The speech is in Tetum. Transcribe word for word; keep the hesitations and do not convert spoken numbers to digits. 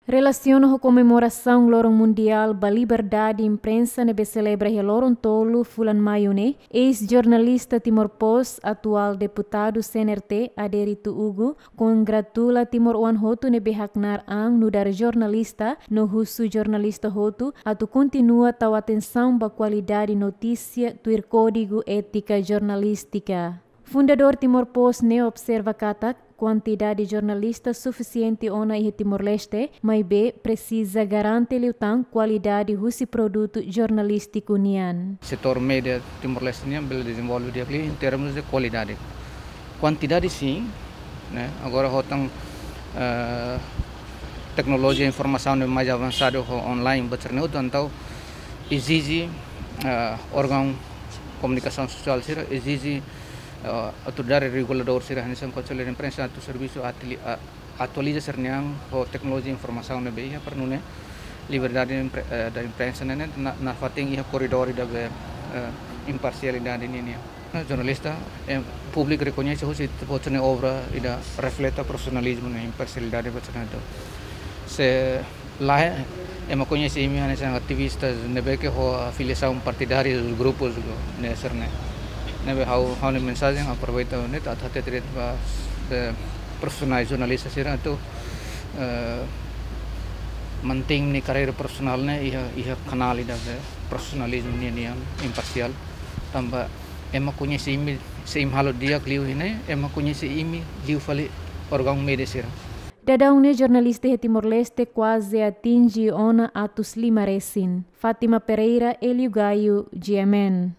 Relasiona ho komemorasaun Loron Mundiál ba Liberdade Imprensa ne'ebé selebra iha loron tolu fulan Maiu ne'e, eis-jornalista Timor Post, atuál deputadu C N R T, Adérito Hugo, kongratula timoroan hotu ne'ebé haknaar an nu'udar jornalista no husu jornalista hotu atu kontinua tau atensaun ba kualidade notísia tuir Kódigu Étika Jornalístika. Fundadór Timor Post ne'e observa katak kuantidade jornalista sufisiente ona iha Timor-Leste, maibé presiza garante liután kualidade husi produtu jornalístiku nian. Setór média Timor-Leste nian bele dezenvolve di'ak liu em termos de kualidade. Kuantidade sin, ne'e? Agora ho tan, eh, teknolojia informasaun ne'e mais avansadu ho online, buat sira-ne'e hotu, entaun ezije, eh, órgaun komunikasaun sosiál sira, ezije, eh, autoridade reguladór sira, hanesan Konsellu de Imprensa, atu servisu atili-, a-, atualiza sira-nian ho teknolojia informasaun ne'ebé iha, para nune'e liberdade impre-, eh, da imprensa ne'e, ne'e na, nafatin iha koridór ida be, eh, imparsialidade ninian. Jornalista, eh, públiku rekoñese husi buat sira-ne'e obra ida refleta profisionalizmu no imparsialidade buat sira-ne'e. Se lae, ema koñese imi hanesan ativista ne'ebé ke ho afiliasaun partidária dos grupus ne'e sira-ne'e. Ne'ebé ha'u, ha'u-nia mensajen aproveita ne'e atu hatete ba, eh, profisionál jornalista sira atu, eh, mantein nia karreira profisionál ne'e iha, iha kanál ida be profisionalizmu nian, nian imparsiál. Tanba ema koñese imi, se imi halo di'ak liu iha ne'e, ema koñese imi liu fali órgaun média sira. Daudaun ne'e jornalista iha Timor-Leste kuaze atinje ona atus lima resin. Fátima Pereira, Hélio Gaio, G M N.